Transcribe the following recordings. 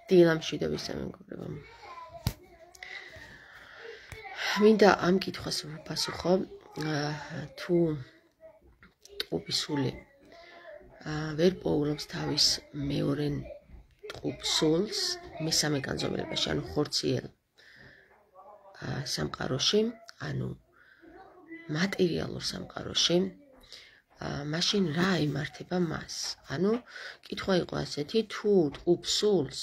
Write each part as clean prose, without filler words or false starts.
დილამშვიდობის მეგობრებო. მინდა ამ კითხვას ვაპასუხო, თუ ტყუპის სული ვერ პოულობს თავის მეორე ტყუპ სულს მესამე განზომილებაში, ანუ ხორციელ სამყაროში, ანუ მატერიალურ სამყაროში, მაშინ რა იმართება მას? ანუ კითხვა იყო ასეთი, თუ ტყუპ სულს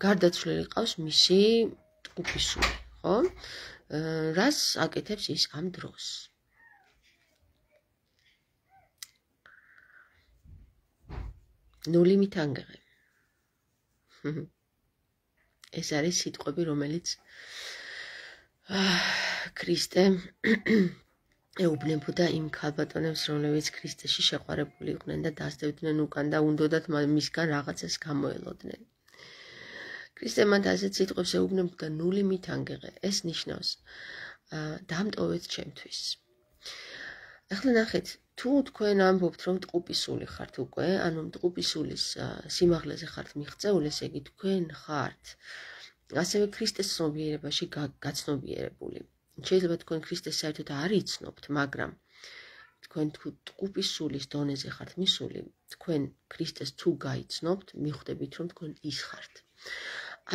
გარდაცვლილი ყავს მისი ტყუპის სული, ხო? რას აკეთებს ის ამ დროს? ნული მითანგე. ეს არის სიტყვები, რომელიც ქრისტე ეუბნებოდა იმ ქალბატონებს, რომლებიც ქრისტეში შეყვარებული იყვნენ და დასდევდნენ უკან და უნდოდათ მისგან რაღაცას გამოელოდნენ. ქრისტე მათ ასეთ სიტყვებს ეუბნებოდა, ნული მითანგე. ეს ნიშნავს დამტოვეთ ჩემთვის. ახლა ნახეთ, თუ თქვენ ამბობთ, რომ ტყუპის სული ხართ უკვე, ანუ ტყუპის სულის სიმაღლეზე ხართ მიღწეული, ესე იგი თქვენ ხართ ასევე ქრისტეს ცნობიერებაში გაცნობიერებული. შეიძლება თქვენ ქრისტეს საერთოდ არ იცნობთ, მაგრამ თქვენ თუ ტყუპის სულის დონეზე ხართ მისული, თქვენ ქრისტეს თუ გაიცნობთ, მიხვდებით, რომ თქვენ ის ხართ.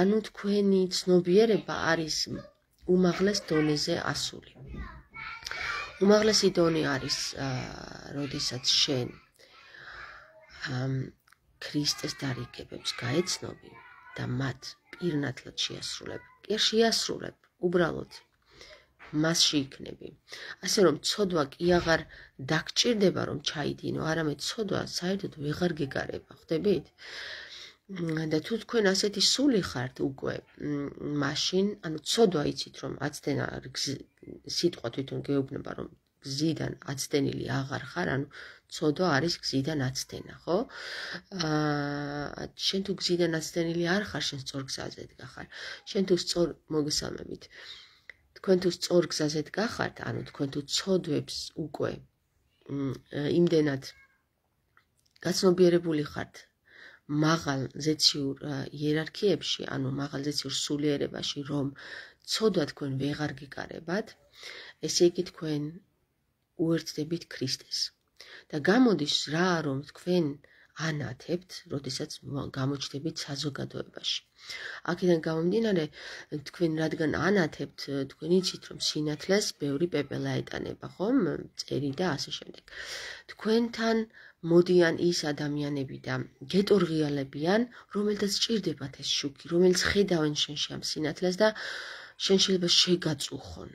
ანუ თქვენი ცნობიერება არის უმაღლეს დონეზე ასული. უმაღლესი დონე არის, როდესაც შენ ქრისტეს დარიგებებს გაეცნობი და მათ პირნათლად შეასრულებ. კი შეასრულებ, უბრალოდ მასში იქნები. ასე რომ ცოდვა კი აღარ დაგჭირდება, რომ ჩაიდინო, არამედ ცოდვა საერთოდ ვეღარ გეგარება, ხვდებით? და თუ თქვენ ასეთი სული ხართ უკვე, მაშინ, ანუ ცოდვა იცით, რომ აცდენა სიტყვა თვითონ გეუბნება, რომ გზიდან აცდენილი აღარ ხარ, ანუ ცოდვა არის გზიდან აცდენა, ხო? შენ თუ გზიდან აცდენილი არ ხარ, შენ სწორ გზაზე დგახარ. შენ თუ სწორ მოგესალმებით. თქვენ თუ სწორ გზაზე დგახართ, ანუ თქვენ თუ ცოდვებს უკვე იმდენად გაცნობიერებული ხართ მაღალ ზეციურ იერარქიებში, ანუ მაღალ ზეციურ სულიერებაში, რომ ცოდვა თქვენ ვეღარ გიკარებათ, ესე იგი თქვენ უერთდებით ქრისტეს. და გამოდის რა, რომ თქვენ ანათებთ, როდესაც გამოჩნდებით საზოგადოებაში. აქედან გამომდინარე, თქვენ რადგან ანათებთ, თქვენ იცით, რომ სინათლეს ბევრი პეპელა ეტანება, ხომ? წერი და ასე შემდეგ. თქვენთან მოდიან ის ადამიანები და გეტორღიალებიან, რომელთაც სჭირდებათ ეს შუქი, რომელიც ხედავენ შენში ამ სინათლეს და შენ შეიძლება შეგაწუხონ.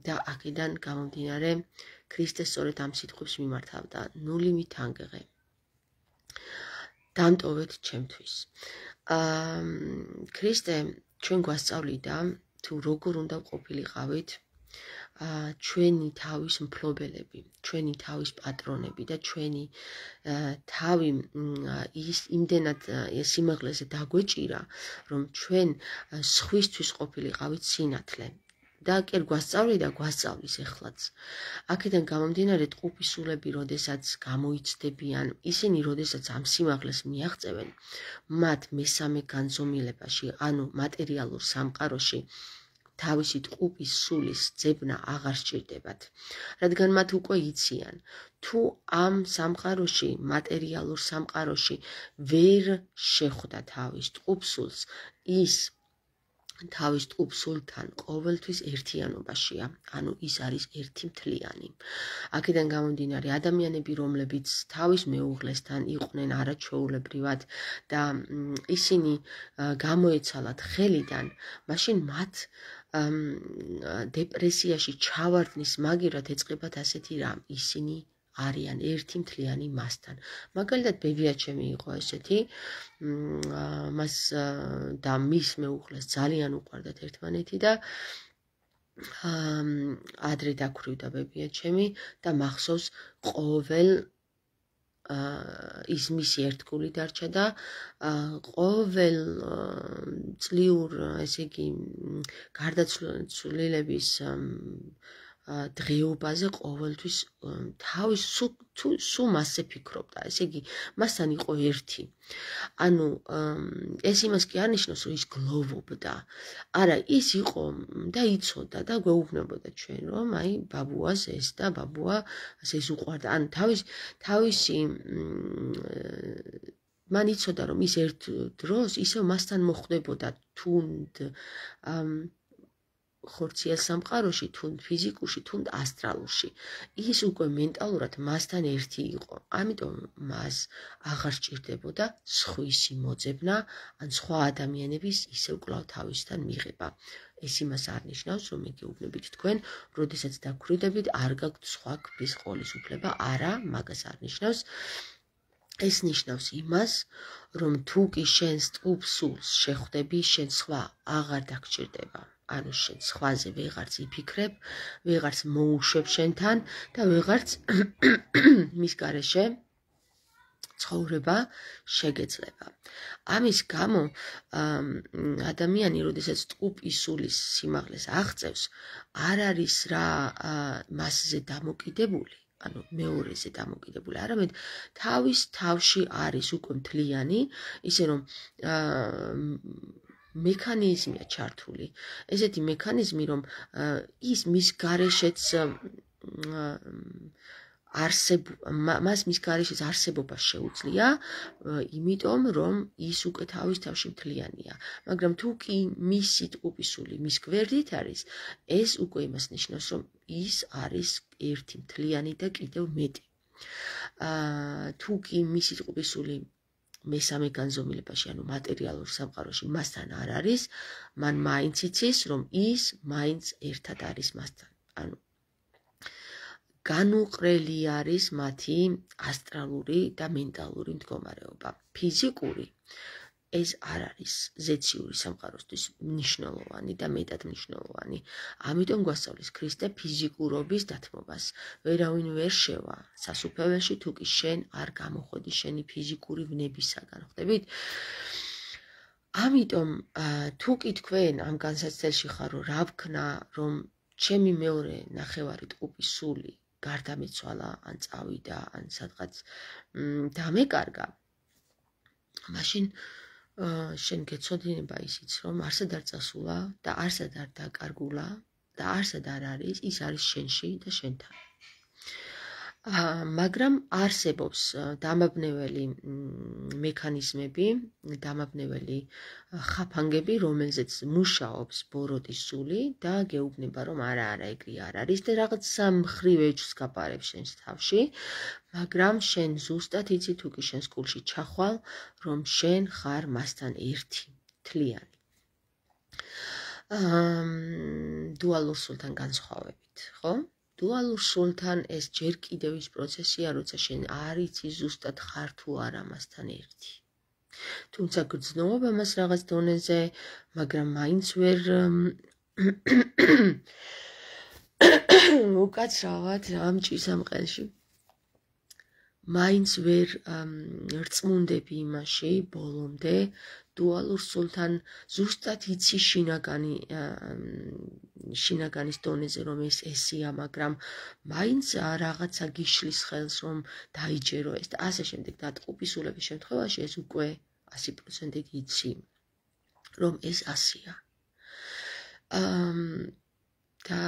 და აქედან გამომდინარე, ქრისტე სწორედ ამ სიტყვებს მიმართავდა, ნული მითანგე. დამტოვეთ ჩემთვის. ქრისტე ჩვენ გვასწავლიდა, თუ როგორ უნდა ყოფილიყავით ჩვენი თავის მფლობელები, ჩვენი თავის პატრონები და ჩვენი თავი ის იმდენად სიმაღლეზე დაგვეჭირა, რომ ჩვენ სხვისთვის ყოფილიყავით სინათლე. და კი გვასწავლიდა, გვასწავლის ეხლაც. აქედან გამომდინარე, ტყუპის სულები, როდესაც გამოიცდებიან, ისინი, როდესაც ამ სიმაღლეს მიაღწევენ, მათ მესამე განზომილებაში, ანუ მატერიალურ სამყაროში, თავისი ტყუპის სულის ძებნა აღარ სჭირდებათ. რადგან მათ უკვე იციან, თუ ამ სამყაროში, მატერიალურ სამყაროში ვერ შეხვდა თავის ტყუპ სულს, ის თავის ტყუპ სულთან ყოველთვის ერთიანობაშია, ანუ ის არის ერთი მთლიანი. აქედან გამომდინარე, ადამიანები, რომლებიც თავის მეუღლესთან იყვნენ არაჩვეულებრივად და ისინი გამოეცალათ ხელიდან, მაშინ მათ დეპრესიაში ჩავარდნის მაგივრად ეწყებათ ასეთი რამ, ისინი არიან ერთი მთლიანი მასთან. მაგალითად, ბებიაჩემი იყო ესეთი, მას და მის მეუღლეს ძალიან უყვარდათ ერთმანეთი და ადრე დაქვრივდა ბებიაჩემი და მახსოვს ყოველ ის მისი ერთგული დარჩა და ყოველ წლიურ, ესე იგი, გარდაცვლილების დღეობაზე ყოველთვის თავის სულ მასზე ფიქრობდა. ესე იგი, მასთან იყო ერთი. ანუ ეს იმას კი არ ნიშნავს, რომ ის გლოვობდა. არა, ის იყო და იცოდა და გვეუბნებოდა ჩვენ, რომ აი ბაბუას ეს და ბაბუა ეს უყვარდა. ანუ თავისი მან იცოდა, რომ ის ერთ დროს ისევ მასთან მოხვდებოდა თუნდ ხორციელ სამყაროში, თუნდ ფიზიკურში, თუნდ ასტრალურში. ის უკვე მენტალურად მასთან ერთი იყო. ამიტომ მას აღარ სჭირდებოდა სხვისი მოძებნა, ან სხვა ადამიანების ისევ კვლავ თავისთან მიღება. ეს იმას არ ნიშნავს, რომ მეგეუბნებით თქვენ, როდესაც დაქვრივდებით, არ გაქვთ სხვა ქმრის ყოლის უფლება. არა, მაგას არ ნიშნავს. ეს ნიშნავს იმას, რომ თუ კი შენ სტუპ სულს შეხვდები, შენ სხვა აღარ დაგჭირდება. ანუ შენ სხვაზე ვეღარც იფიქრებ, ვეღარც მოუშვებ შენთან და ვეღარც მის გარეშე ცხოვრება შეგეძლება. ამის გამო ადამიანი, როდესაც სტუპის სულის სიმაღლეს აღწევს, არ არის რა მასზე დამოკიდებული, ანუ მეორეზე დამოკიდებული, არამედ თავის თავში არის უკვე მთლიანი, ისე რომ მექანიზმია ჩართული. ესეთი მექანიზმი, რომ ის მის გარეშეც მას მის გარეშეც არსებობა შეუძლია, იმიტომ რომ ის უკვე თავის თავში მთლიანია. მაგრამ თუ კი მისი ტყუპისული მის გვერდით არის, ეს უკვე იმას ნიშნავს, რომ ის არის ერთი მთლიანი და კიდევ მეტი. თუ კი მისი ტყუპისული მესამე განზომილებაში, ანუ მატერიალურ სამყაროში მასთან არ არის, მან მაინც იცის, რომ ის მაინც ერთად არის მასთან. ანუ განუყრელი არის მათი ასტრალური და მენტალური მდგომარეობა. ფიზიკური ეს არ არის ზეციური სამყაროსთვის მნიშვნელოვანი და მეტად მნიშვნელოვანი. ამიტომ გვასწავლის ქრისტე ფიზიკურობის დათმობას. ვერავინ ვერ შევა სასუფეველში, თუ კი შენ არ გამოხოდი შენი ფიზიკური ვნებისაგან, ხვდებით? ამიტომ თუ კი თქვენ ამ განსაცდელში ხარ, რა ვქნა, რომ ჩემი მეორე ნახევარი ტყუპის სული გარდამეცვალა, ან წავიდა, ან სადღაც დამეკარგა, მაშინ შენ გეცოდინება ისიც, რომ არსად არ წასულა და არსად არ დაკარგულა და არსად არ არის, ის არის შენში და შენთან. მაგრამ არსებობს დამაბნეველი მექანიზმები, დამაბნეველი ხაფანგები, რომელზეც მუშაობს ბოროტის სული და გეუბნება, რომ არა, ეგრე არ არის და რაღაც სამხრივ ეჭვს გაპარებს შენს თავში, მაგრამ შენ ზუსტად იცი, თუ კი შენს კულში ჩახვალ, რომ შენ ხარ მასთან ერთი, მთლიანი. დუალურ სულთან განსხვავებით, ხო? დუალურ სულთან ეს ჯერ კიდევ ის პროცესია, როცა შენ არ იცი ზუსტად ხარ თუ არა მასთან ერთი. თუმცა გრძნობა მას რაღაც დონეზე, მაგრამ მაინც ვერ უკაცრავად ამ ჭისამყელში. მაინც ვერ რწმუნდები იმაში ბოლომდე, დუალურ სულთან ზუსტად იცი შინაგანის დონეზე, რომ ეს ესია, მაგრამ მაინც რაღაცა გიშლის ხელს, რომ დაიჯერო ეს და ასე შემდეგ. და ტყუპისულების შემთხვევაში ეს უკვე 100%-ით იცი, რომ ეს ასია. და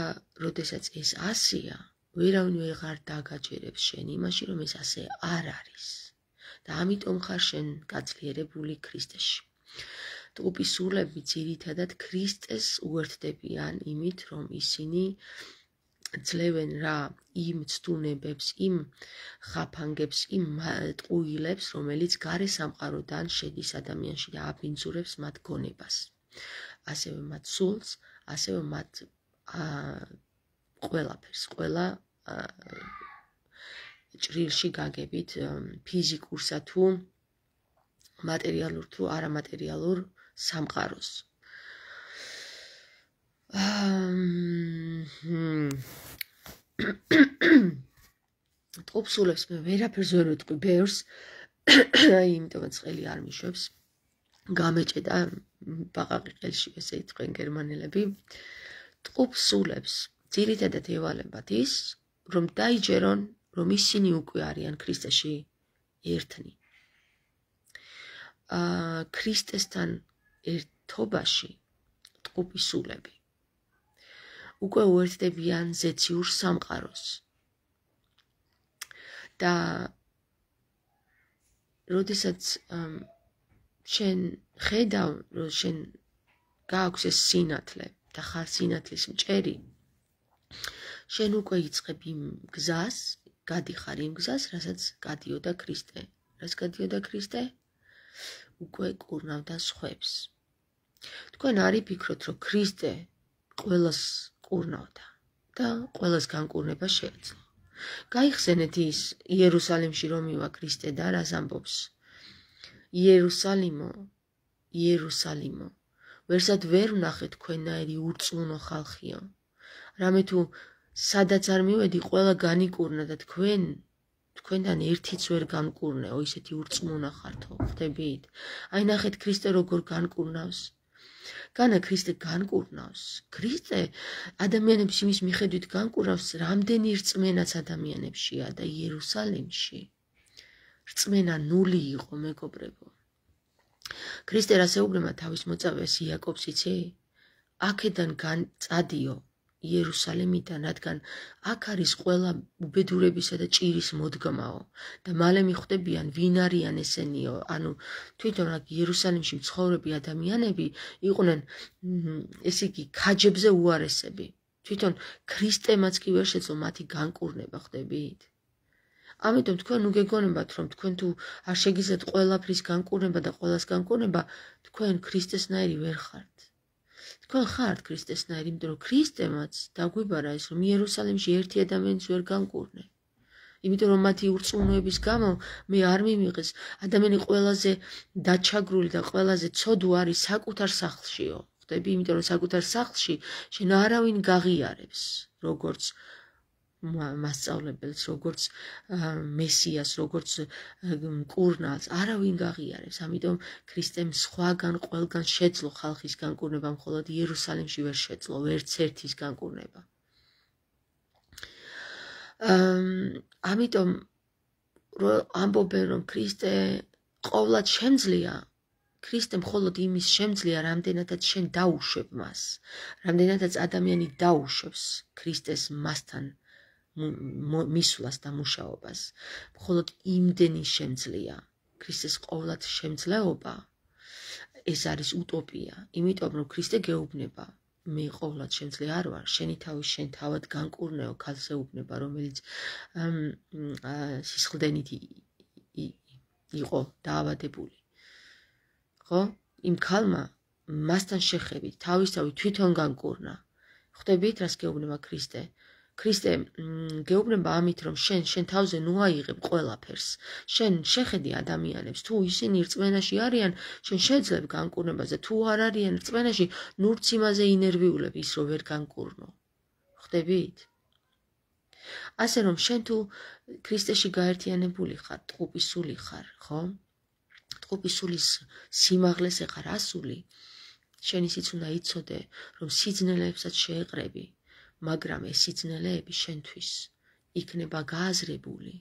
როდესაც ეს ასია, ვერავინ ვეღარ დაგაჯერებს შენ იმაში, რომ ეს ასე არ არის. და ამიტომ ხარ შენ გაძლიერებული ქრისტეში. ტყუპისულები ძირითადად ქრისტეს უერთდებიან იმით, რომ ისინი ძლევენ რა იმ ცდუნებებს, იმ ხაფანგებს, იმ ტყუილებს, რომელიც გარე სამყაროდან შედის ადამიანში და აბინძურებს მათ გონებას. ასევე მათ სულს, ასევე მათ ყველაფერს, ყველა ჭრილში გაგებით, ფიზიკურსა თუ მატერიალურ თუ არამატერიალურ სამყაროს. ტყუპსულებს მე ვერაფერს ვერ ვიტყვი ბევრს, იმიტომაც ხელი არ მიშვებს. გამეჭედა ბაყაყი ყელში, ესე იტყვენ გერმანელები. ტყუპსულებს ძირითადად ევალებათ ის, რომ დაიჯერონ, რომ ისინი უკვე არიან ქრისტეში ერთნი. ქრისტესთან ერთობაში ტყუპი სულები უკვე უერთდებიან ზეციურ სამყაროს და როდესაც შენ ხედავ, რომ შენ გააქვს ეს სინათლე და ხარ სინათლის მჭერი, შენ უკვე იწყებ იმ გზას, გადიხარ იმ გზას, რასაც გადიოდა ქრისტე. რას გადიოდა ქრისტე? უკვე კურნავდა სხვებს. თქვენ არ იფიქროთ, რომ ქრისტე ყველას კურნავდა და ყველას განკურნება შეეძლო. გაიხსენეთ ის იერუსალიმში რომ მივა ქრისტე და რას ამბობს? იერუსალიმო, იერუსალიმო, ვერსად ვერ ვნახე თქვენნაირი ურწმუნო ხალხიო. რამე თუ სადაც არ მივედი, ყველა განიკურნა და თქვენთან ერთიც ვერ განკურნეო, ისეთი ურწმუნა ხართო, ხვდებით? აი ნახეთ ქრისტე როგორ განკურნავს. განა ქრისტე განკურნავს. ქრისტე ადამიანებს იმის მიხედვით განკურნავს, რამდენი რწმენაც ადამიანებშია და იერუსალიმში რწმენა ნული იყო, მეგობრებო. ქრისტე რასეუბნება თავის მოწაფეს იაკობს, იცი? აქედან წადიო იერუსალიმიდან, რადგან აქ არის ყველა უბედურებისა და ჭირის მოდგმაო და მალე მიხვდებიან ვინ არიან ესენიო. ანუ თვითონ აქ იერუსალიმში მცხოვრები ადამიანები იყვნენ, ესე იგი, ქაჯებზე უარესები. თვითონ ქრისტემაც კი ვერ შეძლო მათი განკურნება, ხვდებით? ამიტომ თქვენ უგეგონებათ, რომ თქვენ თუ არ შეგიძლიათ ყველაფრის განკურნება და ყველას განკურნება, თქვენ ქრისტესნაირი ვერ ხართ. თქვენ ხართ ქრისტესნაირი, იმიტომ რომ ქრისტემაც დაგვიბარა ის, რომ იერუსალიმში ერთი ადამიანის ვერ განკურნე. იმიტომ რომ მათი ურწმუნოების გამო მე არ მიმიღეს, ადამიანი ყველაზე დაჩაგრული და ყველაზე ცოდუ არის საკუთარ სახლშიო. ხვდები? იმიტომ რომ საკუთარ სახლში შენ არავინ გაღიარებს, როგორც მასწავლებელს, როგორც მესიას, როგორც მკურნალს, არავინ გაღიარებს. ამიტომ ქრისტემ სხვაგან ყველგან შეძლო ხალხის განკურნება, მხოლოდ იერუსალიმში ვერ შეძლო ვერც ერთის განკურნება. ამიტომ ამბობენ, რომ ქრისტე ყოვლად შემძლია, ქრისტე მხოლოდ იმის შემძლია, რამდენადაც შენ დაუშვებ მას, რამდენადაც ადამიანი დაუშვებს ქრისტეს მასთან მისვლას და მუშაობას. მხოლოდ იმდენი შემძლია. ქრისტეს ყოვლად შემძლეობა ეს არის უტოპია, იმიტომ რომ ქრისტე გეუბნება, მე ყოვლად შემძლე არ ვარ, შენი თავი შენ თავად განკურნეო, ქალს ეუბნება, რომელიც სისხლდენით იყო დაავადებული. ხო? იმ ქალმა მასთან შეხებით თავისთავად თვითონ განკურნა. ხვდებით, რას გეუბნება ქრისტე? ქრისტე გეუბნება ამით, რომ შენ თავზე ნუ აიღებ ყველაფერს. შენ შეხედი ადამიანებს, თუ ისინი რწმენაში არიან, შენ შეძლებ განკურნებას და თუ არ არიან რწმენაში, ნურც იმაზე ინერვიულებ ის, რომ ვერ განკურნო. ხვდებით? ასე რომ შენ თუ ქრისტეში გაერთიანებული ხარ, ტყუპი სული ხარ, ხო? ტყუპი სულის სიმაღლეს ეხარ ასული, შენ ისიც უნდა იცოდე, რომ სიძნელებსაც შეეყრები, მაგრამ ეს სიძნელეები შენთვის იქნება გააზრებული.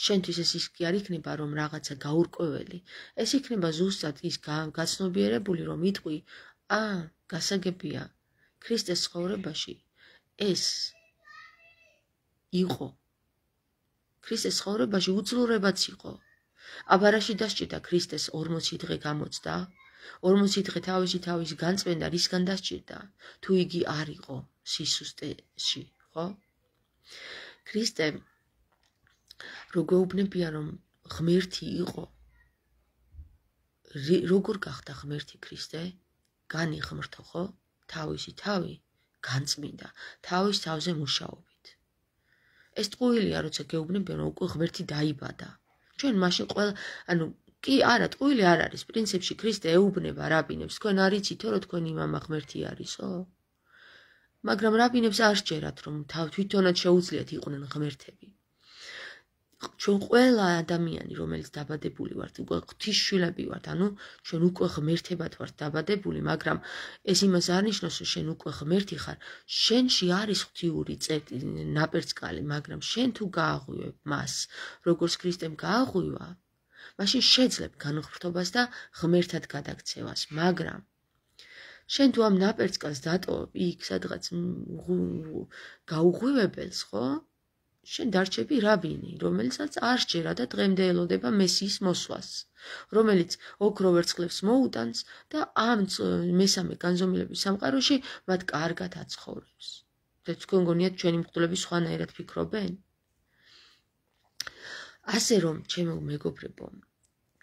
შენთვის ეს კი არ იქნება, რომ რაღაცა გაურკვეველი, ეს იქნება ზუსტად ის გაცნობიერებული, რომ იტყვი, გასაგებია, ქრისტეს ცხოვრებაში ეს იყო. ქრისტეს ცხოვრებაში უძლურებაც იყო. აბარაში დასჭირდა ქრისტეს 40 დღე გამოცდა, 40 დღე თავის განწმენდა, რისგან დასჭირდა, თუ იგი არ იყო სისუსტეში, ხო? ქრისტე როგეუბნებია, რომ ღმერთი იყო. როგორ გახდა ღმერთი ქრისტე? განიღმრთო, ხო? თავისი თავი განწმინდა, თავის თავზე მუშაობით. ეს ტყუილია, როცა გეუბნებიან, რომ უკვე ღმერთი დაიბადა. ჩვენ მაშინ ყველა, კი არა, ტყუილი არ არის. პრინციპში ქრისტე ეუბნება რაბინებს, თქვენ არ იცითო, რომ თქვენი მამა ღმერთი არისო? მაგრამ რაბინებს არ სჯერათ, რომ თვითონაც შეუძლიათ იყვნენ ღმერთები. ჩვენ ყველა ადამიანი, რომელიც დაბადებული ვართ, უკვე ღვთისშვილები ვართ, ანუ ჩვენ უკვე ღმერთებად ვართ დაბადებული, მაგრამ ეს იმას არ ნიშნავს, რომ შენ უკვე ღმერთი ხარ, შენში არის ღვთიური ნაპერწკალი, მაგრამ შენ თუ გააღვივებ მას, როგორც ქრისტემ გააღვივა, მაშინ შეძლებ განუხრთობას და ღმერთად გადაქცევას, მაგრამ შენ თუ ამ ნაპერწკალს დატოვებ იქ სადღაც გაუღვივებელს, ხო? შენ დარჩები რაბინი, რომელსაც არ სჯერა და დღემდე ელოდება მესიის მოსვლას, რომელიც ოქრო ვერცხლებს მოუტანს და ამ მესამე განზომილების სამყაროში მათ კარგად აცხოვრებს. და თქვენ გონიათ ჩვენი მღვდლები სხვანაირად ფიქრობენ? ასე რომ, ჩემო მეგობრებო,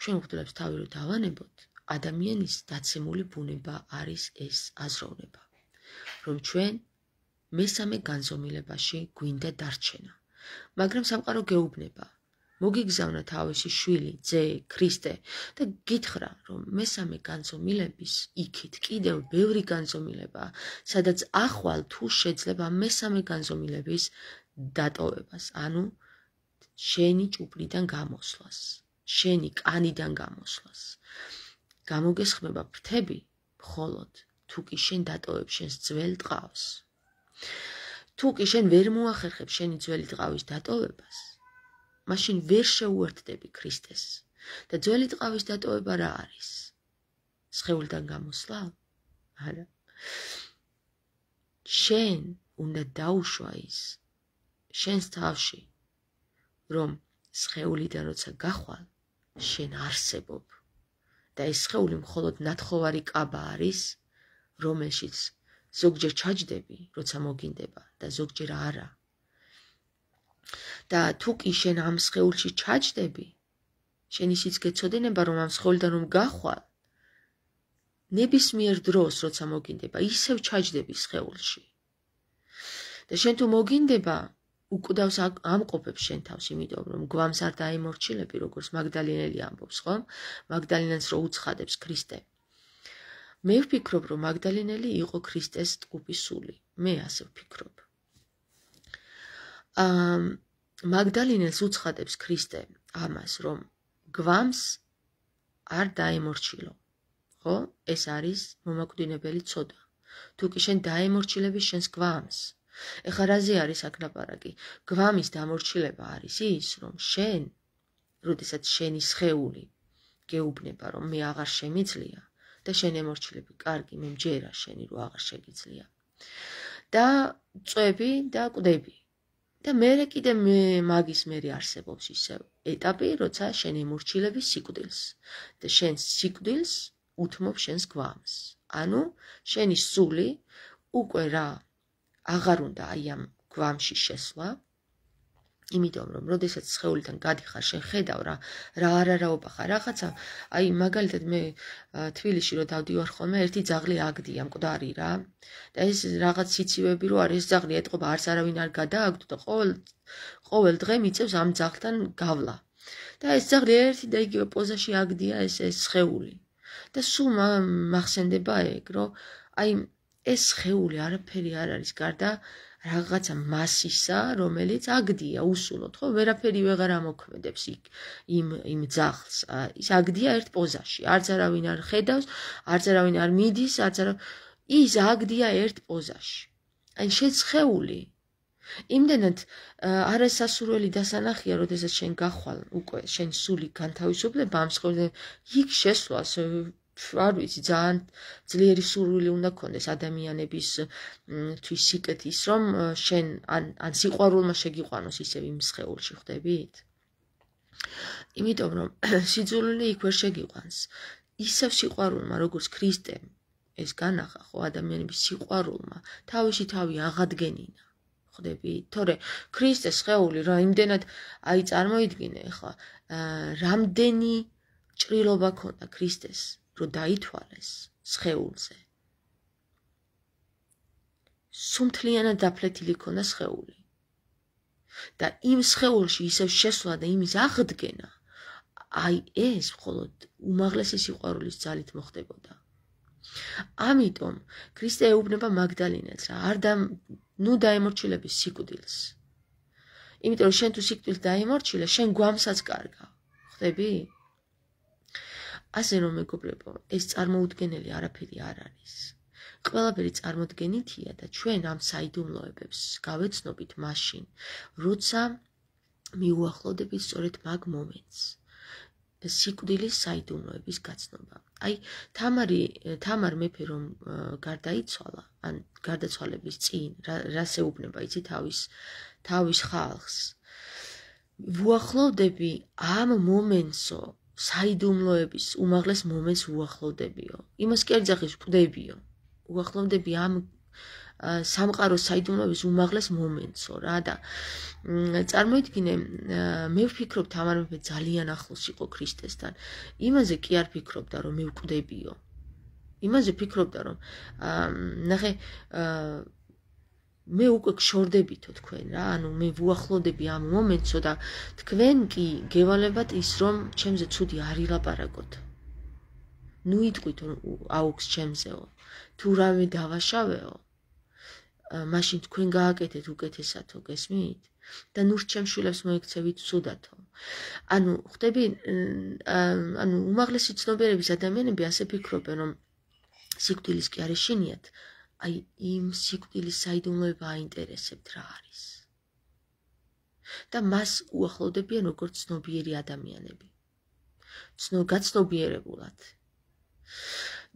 ჩვენ მღვდლებს თავი რო დავანებოთ, ადამიანის დაცემული ბუნება არის ეს აზროვნება, რომ ჩვენ მესამე განზომილებაში გვინდა დარჩენა. მაგრამ სამყარო გეუბნება, მოგიგზავნა თავისი შვილი, ძე, ქრისტე და გითხრა, რომ მესამე განზომილების იქით კიდევ ბევრი განზომილებაა, სადაც ახვალ თუ შეძლება მესამე განზომილების დატოვებას, ანუ შენი ჭუპრიდან გამოსვლას, შენი კანიდან გამოსვლას. გამოგესხმება ფრთები, მხოლოდ თუ კი შენ დატოვებ შენს ძველ ტყავს. თუ კი შენ ვერ მოახერხებ შენი ძველი ტყავის დატოვებას, მაშინ ვერ შეუერთდები ქრისტეს. და ძველი ტყავის დატოვება რა არის? სხეულიდან გამოსვლა? არა. შენ უნდა დაუშვა ის შენს თავში, რომ სხეულიდან როცა გახვალ, შენ არსებობ. და ეს სხეული მხოლოდ ნათხოვარი კაბა არის, რომელშიც ზოგჯერ ჩაჯდები, როცა მოგინდება და ზოგჯერ არა. და თუ კი შენ ამ სხეულში ჩაჯდები, შენ ისიც გეცოდინება, რომ ამ სხეულიდან რომ გახვალ, ნებისმიერ დროს, როცა მოგინდება, ისევ ჩაჯდები სხეულში. და შენ თუ მოგინდება, უკვდავს ამყოფებს შენ თავს, იმიტომ რომ გვამს არ დაიმორჩილები, როგორც მაგდალინელი ამბობს, ხო? მაგდალინელს რო უცხადებს ქრისტე. მე ვფიქრობ, რომ მაგდალინელი იყო ქრისტეს ტყუპის სული. მე ასე ვფიქრობ. მაგდალინელს უცხადებს ქრისტე ამას, რომ გვამს არ დაემორჩილო. ხო? ეს არის მომაკვდინებელი ცოდა. თუ კი შენ დაემორჩილები შენს გვამს, ეხლა რაზე არის აქ ლაპარაკი? გვამის დამორჩილება არის ის, რომ შენ, როდესაც შენი სხეული გეუბნება, რომ მე აღარ შემიძლია და შენ ემორჩილები, კარგი, მე მჯერა შენი რო აღარ შეგიძლია. და წვები და კვდები. და მერე კიდე მაგის მერე არსებობს ისევ ეტაპი, როცა შენ ემორჩილები სიკვდილს და შენ სიკვდილს უთმობ შენს გვამს. ანუ შენი სული უკვე რა აღარ უნდა აი ამ გვამში შესვლა, იმიტომ რომ როდესაც სხეულიდან გადიხარ, შენ ხედავ რა არაраობა ხარ რაღაცა, აი მაგალითად მე თბილისში რო დავდივარ ხოლმე, ერთი ძაღლი აგდია, მკვდარი რა. და ეს რაღაც სიცივები რო არის, ეს ძაღლი ეტყობა, არც არავინ არ გადააგდო და ყოველ დღე მიწევს ამ ძაღლთან გავლა. და ეს ძაღლი ერთი და იგივე პოზაში აგდია ეს სხეული. და სულ მახსენდება ეგ, რომ აი ეს სხეული არაფერი არ არის გარდა რაღაცა მასისა, რომელიც აგდია უსულოდ, ხო? ვერაფერი ვეღარ ამოქმედებს იმ ძაღლს. ის აგდია ერთ პოზაში. არც არავინ არ ხედავს, არც არავინ არ მიდის, ის აგდია ერთ პოზაში. აი შენ სხეული იმდენად არასასურველი დასანახია, როდესაც შენ გახვალ, უკვე შენ სული განთავისუფლება ამ სხეულიდან, იქ შესვლას არ ვიცი, ძალიან ძლიერი სურვილი უნდა გქონდეს ადამიანების თვის სიკეთის, რომ შენ ან სიყვარულმა შეგიყვანოს ისევ იმ სხეულში, ხვდებით? იმიტომ რომ სიძულვილი იქ ვერ შეგიყვანს. ისევ სიყვარულმა, როგორც ქრისტემ ეს განახა, ხო, ადამიანების სიყვარულმა თავისი თავი აღადგენინა. ხვდებით? თორე ქრისტეს სხეული რა იმდენად აი წარმოიდგინე ახლა, რამდენი ჭრილობა ქონდა ქრისტეს, რომ დაითვალეს სხეულზე. სუმთლიანად დაფლეთილი ქონდა სხეული. და იმ სხეულში ისევ შესვლა და იმის აღდგენა, აი ეს მხოლოდ უმაღლესი სიყვარულის ძალით მოხდებოდა. ამიტომ ქრისტე ეუბნება მაგდალინელს რა, ნუ დაემორჩილების სიკვდილს. იმიტომ რომ შენ თუ სიკვდილს დაემორჩილე, შენ გვამსაც კარგავ. ხვდები? ასე რომ მეგობრებო, ეს წარმოუდგენელი არაფერი არ არის. ყველაფერი წარმოდგენითია და ჩვენ ამ საიდუმლოებებს გავეცნობით მაშინ, როცა მიუახლოვდებით სწორედ მაგ მომენტს. სიკვდილის საიდუმლოების გაცნობა. აი, თამარ მეფე რომ გარდაიცვალა, ან გარდაცვალების წინ, რას ეუბნება იცი თავის ხალხს. ვუახლოვდები ამ მომენტსო, საიდუმლოების უმაღლეს მომენტს ვუახლოვდებიო. იმას კი არ ძახის ვკვდებიო. ვუახლოვდები ამ სამყაროს საიდუმლოების უმაღლეს მომენტსო რა და წარმოიდგინე, მე ვფიქრობ თამარ მეფე ძალიან ახლოს იყო ქრისტესთან. იმაზე კი არ ფიქრობდა რომ მე ვკვდებიო. იმაზე ფიქრობდა რომ ნახე მე უკვე გშორდებითო თქვენ რა, ანუ მე ვუახლოვდები ამ მომენტსო და თქვენ კი გევალებათ ის რომ ჩემზე ცუდი არ ილაპარაკოთ. ნუ იტყვით აუქს ჩემზეო. თუ რამე დავაშავეო, მაშინ თქვენ გააკეთეთ უკეთესათო, გესმით? და ნუ ჩემ შვილებს მოექცევით ცუდათო. ანუ ხვდები, ანუ უმაღლესი ცნობიერების ადამიანები ასე ფიქრობენ, რომ სიკვდილის კი არ ეშინიათ, აი იმ სიკვდილის საიდუმლოება აინტერესებთ რა არის. და მას უახლოვდებიან როგორც ცნობიერი ადამიანები. გაცნობიერებულად.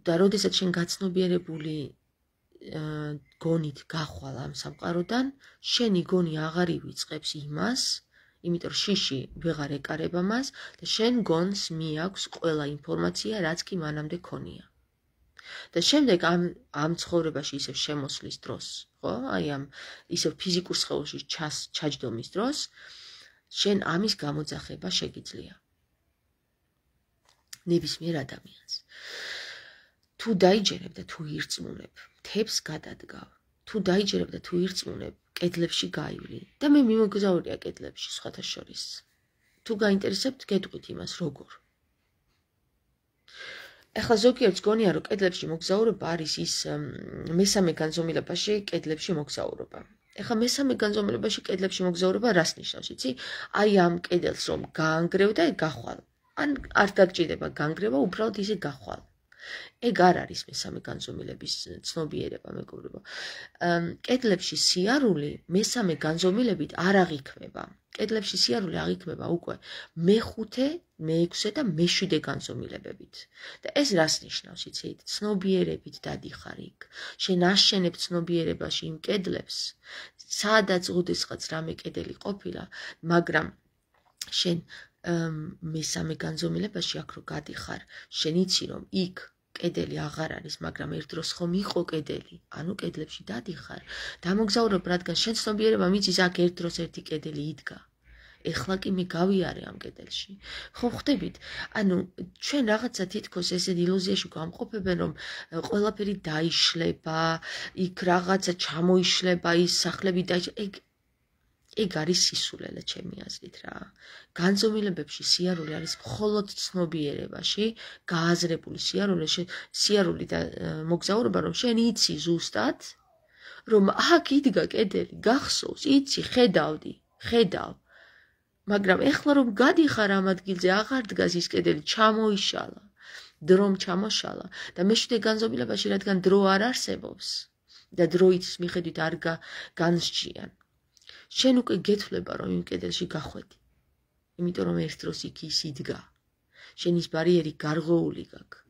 და როდესაც შენ გაცნობიერებული გონით გახვალ ამ სამყაროდან, შენი გონი აღარ ივიწყებს იმას, იმიტომ რომ შიში ვეღარ ეკარება მას და შენ გონს მიაქვს ყველა ინფორმაცია, რაც კი მანამდე ქონია. და შემდეგ ამ ცხოვრებაში ისევ შემოსვლის დროს, ხო? აი ამ ისევ ფიზიკურ სხეულში ჩაჯდომის დროს, შენ ამის გამოძახება შეგიძლია. ნებისმიერ ადამიანს. თუ დაიჯერებ და თუ ირწმუნებ, მთებს გადადგავ. თუ დაიჯერებ და თუ ირწმუნებ, კედლებში გაივლი და მე მიმოგზაურია კედლებში სხვათა შორის. თუ გაინტერესებთ, გეტყვით იმას როგორ. ეხლა ზოგიერთს გონია, რომ კედლებში მოგზაურობა არის ის მესამე განზომილებაში კედლებში მოგზაურობა. ეხლა მესამე განზომილებაში კედლებში მოგზაურობა რას ნიშნავს, იცი? აი ამ კედელს რომ გაანგრევ და გახვალ. ან არ დაგჭირდება განგრევა, უბრალოდ ისე გახვალ. ეგ არ არის მესამე განზომილების ცნობიერება, მეგობრებო. კედლებში სიარული მესამე განზომილებით არ აღიქმება. კედლებში სიარული აღიქმება უკვე მეხუთე, მეექვსე და მეშვიდე განზომილებებით. და ეს რას ნიშნავს, იცით? ცნობიერებით დადიხარ იქ. შენ აშენებ ცნობიერებაში იმ კედლებს, სადაც ოდესღაც რამე კედელი ყოფილა, მაგრამ შენ მესამე განზომილებაში აქ რო გადიხარ, შენ იცი რომ იქ კედელი აღარ არის, მაგრამ ერთ დროს ხომ იყო კედელი, ანუ კედლებში დადიხარ. დამოგზაურებ, რადგან შენ ცნობიერება მიცის აქ ერთ დროს ერთი კედელი იდგა. ეხლა კი მე გავიარე ამ კედელში. ხო ხვდებით? ანუ ჩვენ რაღაცა თითქოს ესე ილუზიაში გამყოფებენ, რომ ყველაფერი დაიშლება, იქ რაღაცა ჩამოიშლება, ის სახლები დაიშლება. ეგ არის სისულელე ჩემი აზრით რა. განზომილებებში სიარული არის მხოლოდ ცნობიერებაში, გააზრებული სიარული და მოგზაურობა, რომ შენ იცი ზუსტად, რომ აქ იდგა კედელი, გახსოვს, იცი, ხედავ. მაგრამ ეხლა რომ გადიხარ ამ ადგილზე, აღარ დგას ის კედელი, ჩამოიშალა, დრომ ჩამოშალა და მეშვიდე განზომილებაში, რადგან დრო არ არსებობს და დროის მიხედვით არ განსჯიან. შენ უკვე გეთვლება, რომ იმ კედელში გახვედი. იმიტომ რომ ერთ დროს იქ ის იდგა. შენ ის ბარიერი გარღვეული გაქვს.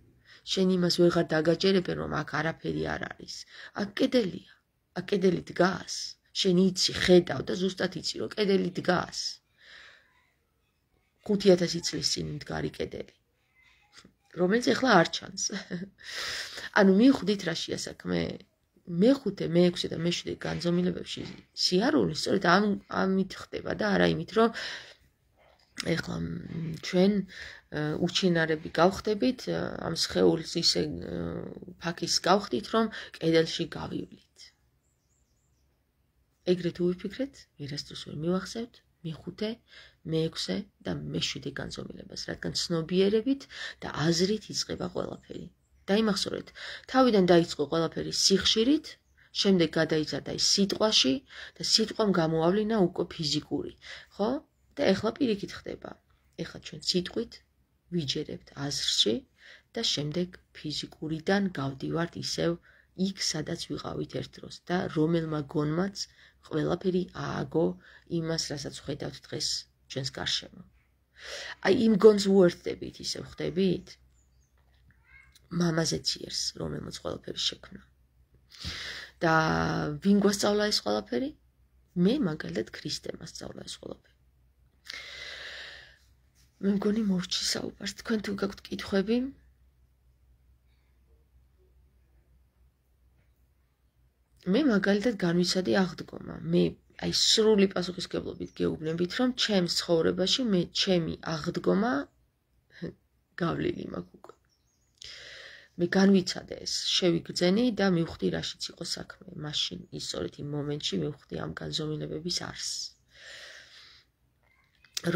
შენ იმას ვეღარ დაგაჯერებენ, რომ აქ არაფერი არ არის. აქ კედელია. აქ კედელი დგას. შენ იცი, ხედავ და ზუსტად იცი, რომ კედელი დგას. 5000 წლის წინ მდგარი კედელი. რომელიც ეხლა არ ჩანს. ანუ მივხვდით რა შეასაქმე? მეხუთე, მეექვსე და მეშვიდე განზომილებებში სიარული სწორედ ამით ხდება და არა იმით, რომ ეხლა ჩვენ უჩინარები გავხდებით, ამ სხეულს ისე ფაქის გავხდით, რომ კედელში გავივლით. ეგრეთ უვიფიქრეთ, ვერასდროს ვერ მივახსევთ მეხუთე, მეექვსე და მეშვიდე განზომილებას, რადგან ცნობიერებით და აზრით იწყება ყველაფერი. დაიმახსოვრეთ, თავიდან დაიწყო ყველაფერი სიხშირით, შემდეგ გადაიზარდა ის სიტყვაში და სიტყვამ გამოავლინა უკვე ფიზიკური, ხო? და ეხლა პირიქით ხდება. ეხლა ჩვენ სიტყვით ვიჯერებთ აზრში და შემდეგ ფიზიკურიდან გავდივართ ისევ იქ, სადაც ვიყავით ერთ დროს და რომელმა გონმაც ყველაფერი ააგო იმას, რასაც ხედავთ დღეს ჩვენს გარშემო. აი იმ გონს უერთდებით, ისევ ხდებით? მამაზე ციერს, რომელმაც ყველაფერი შექმნა. და ვინ გვასწავლა ეს ყველაფერი? მე მაგალითად ქრისტემ ასწავლა ეს ყველაფერი. მე მგონი მოვჭი საუბარს, თქვენ თუ გაქვთ კითხვები? მე მაგალითად განვიცადე აღდგომა. მე აი სრული პასუხისმგებლობით გეუბნებით, რომ ჩემს ცხოვრებაში მე ჩემი აღდგომა გავლილი მაქვს უკვე. მე განვიცადე ეს, შევიგრძენი და მივხვდი რაშიც იყო საქმე. მაშინ ის სწორედ იმ მომენტში მივხვდი ამ განზომილებების არსს.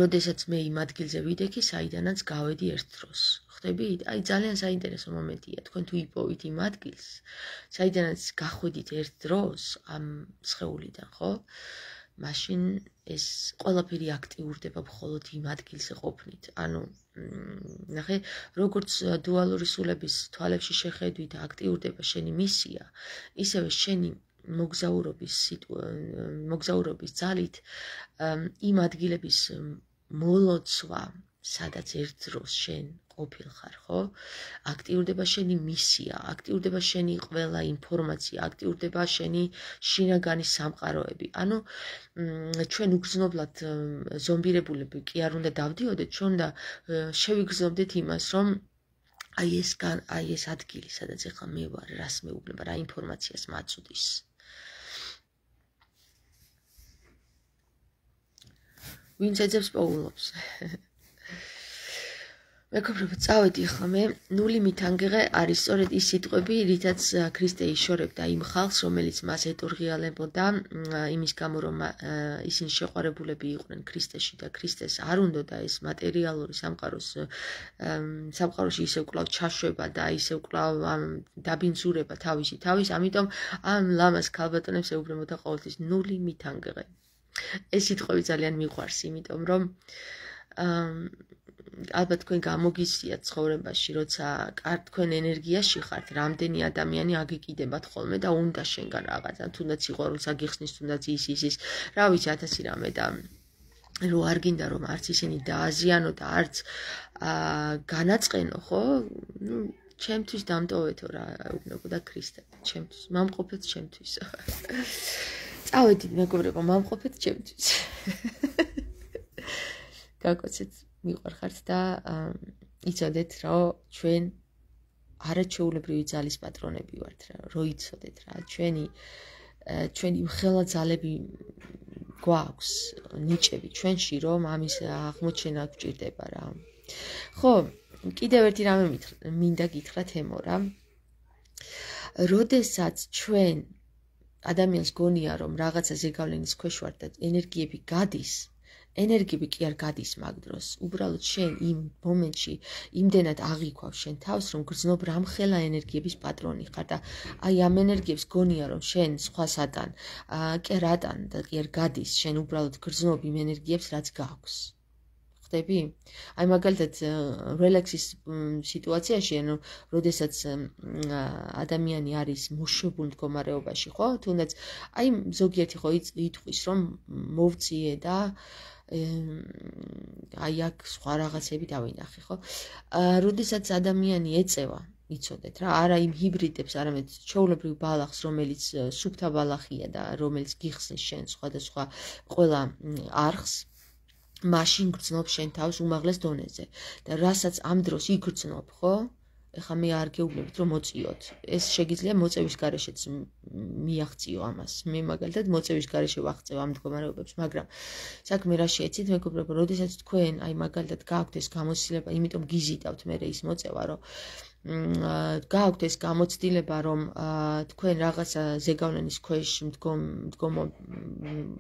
როდესაც მე იმ ადგილზე ვიდექი, საიდანაც გავედი ერთ დროს. ხდებით? აი ძალიან საინტერესო მომენტია. თქვენ თუ იპოვით იმ ადგილს, საიდანაც გახვედით ერთ დროს ამ სხეულიდან, ხო? მაშინ ეს ყველაფერი აქტიურდება მხოლოდ იმ ადგილზე ყოფნით. ანუ ნახე, როგორც დუალური სულების თვალებში შეხედვით და აქტიურდება შენი მისია, ისევე შენი მოგზაურობის ძალით იმ ადგილების მოლოცვა, სადაც ერთ დროს შენ ყოფილხარ, ხო? აქტიურდება შენი მისია, აქტიურდება შენი ყველა ინფორმაცია, აქტიურდება შენი შინაგანი სამყაროები. ანუ ჩვენ უგრძნობლად ზომბირებულები კი არ უნდა დავდიოდეთ, ჩვენ უნდა შევიგრძნობდეთ იმას, რომ აი ეს ადგილი, სადაც ეხლა მე ვარ, რას მეუბნება, რა ინფორმაციას მაწვდის. ვინც ეძებს პოულობს. მეგობრებო, წავედი ახლა მე ნული მითანგიღე არის სწორედ ის სიტყვები, რითაც ქრისტე იშორებდა იმ ხალხს, რომელიც მას ეტურღიალებოდა იმის გამო, რომ ისინი შეყვარებულები იყვნენ ქრისტეში და ქრისტეს არ უნდოდა ეს მატერიალური სამყაროში ისევ კვლავ ჩაშვება და ისევ კვლავ დაბინძურება თავისი თავის, ამიტომ ამ ლამას ქალბატონებს ეუბნებოდა ყოველთვის ნული მითანგიღე. ეს სიტყვები ძალიან მიყვარს, იმიტომ რომ ალბათ თქვენ გამოგიცდიათ ცხოვრებაში, როცა თქვენ ენერგიაში ხართ, რამდენი ადამიანი აგიკიდებათ ხოლმე და უნდა შენგან რაღაცა, თუნდაც სიყვარულს აგიხსნის, თუნდაც ის, რა ვიცი, 1000 რამე და რო არ გინდა რომ არც ისინი დააზიანო და არც განაწყენო, ხო? ნუ ჩემთვის დამტოვეთო რა ეუბნებოდა ქრისტე, ჩემთვის, მამყოფეთ ჩემთვის. წავედით მეგობრებო, მამყოფეთ ჩემთვის. გაკოცეთ მიყვარხართ და იცოდეთ, რომ ჩვენ არაჩვეულებრივი ძალის პატრონები ვართ, რო იცოდეთ რა, ჩვენი ხელა ძალები გვაქვს, ნიჭები ჩვენში, რომ ამის აღმოჩენა გვჭირდება რა. ხო, კიდევ ერთი რამე მინდა გითხრათ ემო რა. როდესაც ჩვენ ადამიანს გონია, რომ რაღაცა ზეგავლენის ქვეშ ვარ და ენერგიები გადის, ენერგიები კი არ გადის მაგ დროს. უბრალოდ შენ იმ მომენტში იმდენად აღიქვავს შენ თავს, რომ გრძნობ რამხელა ენერგიების პატრონი ხარ და აი ამ ენერგიებს გონია, რომ შენ სხვასთან კი არ ატან და კი არ გადის, შენ უბრალოდ გრძნობ იმ ენერგიებს, რაც გაქვს. ხდები? აი მაგალითად რელაქსის სიტუაციაში, ანუ როდესაც ადამიანი არის მოშვებულ მდგომარეობაში, ხო? თუნდაც აი ზოგიერთი ხო იტყვის, რომ მოვწიე და აი აქ სხვა რაღაცები დავინახე, ხო? როდესაც ადამიანი ეწევა, იცოდეთ რა, არა იმ ჰიბრიდებს, არამედ ჩვეულებრივ ბალახს, რომელიც სუფთა ბალახია და რომელიც გიხსნის შენ სხვადასხვა ყველა არხს, მაშინ გრძნობ შენ თავს უმაღლეს დონეზე და რასაც ამ დროს იგრძნობ, ხო? ეხლა მე არ გეუბნებით რომ მოწიოთ. ეს შეგიძლია მოწევის გარეშეც მიაღწიო ამას. მე მაგალითად მოწევის გარეშე ვაღწევ ამ მდგომარეობებს, მაგრამ საქმე რა შეეცით, მეგობრებო, როდესაც თქვენ აი მაგალითად გააქვთ ეს გამოცდილება, იმიტომ გიზიდავთ მე ის მოწევა, რომ გააქვთ ეს გამოცდილება, რომ თქვენ რაღაცა ზეგავლენის ქვეშ მდგომ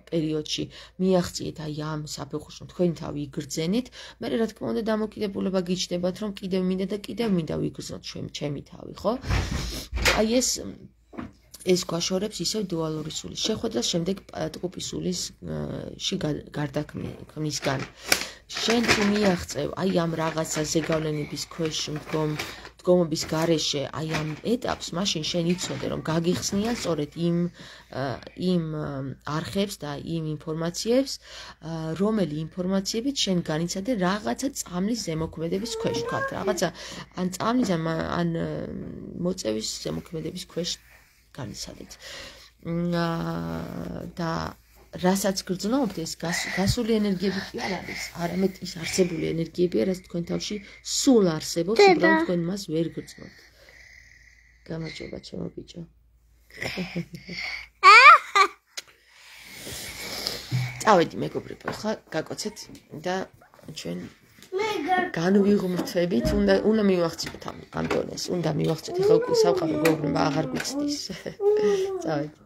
პერიოდში მიაღწიეთ აი ამ საფეხურს, რომ თქვენი თავი იგრძენით, მე რა თქმა უნდა დამოკიდებულება გიჩნდებათ, რომ კიდევ მინდა და კიდევ მინდა ვიგრძნოთ ჩემი თავი, ხო? აი ეს ეს გვაშორებს ისევ დუალური სულის შეხვედრას შემდეგ ტყუპი სულისში გარდაქმნისგან. შენ თუ მიაღწევ აი ამ რაღაცა ზეგავლენების ქვეშ მდგომობის გარეშე აი ამ ეტაპს, მაშინ შენ იცოდე, რომ გაგიხსნია სწორედ იმ არხებს და იმ ინფორმაციებს, რომელი ინფორმაციებით შენ განიცადე რაღაცა წამლის ზემოქმედების ქვეშ, ვთქვათ, რაღაცა ან წამლის ან მოწევის ზემოქმედების ქვეშ განიცადეთ. და რასაც გრძნობთ, ეს გასული ენერგიები კი არ არის, არამედ ის არსებული ენერგიებია, რაც თქვენ თავში სულ არსებობს, უბრალოდ თქვენ მას ვერ გრძნობთ. გამარჯობა, ჩემო ბიჭო. წავედი მეგობრებო, ხა გაკოცეთ და ჩვენ განვიღმრთვებით, უნდა მივახციოთ ამ დონეს, უნდა მივახციოთ, ხა უკვე სამყარო გვეუბნება აღარ გვიცდის. წავედი.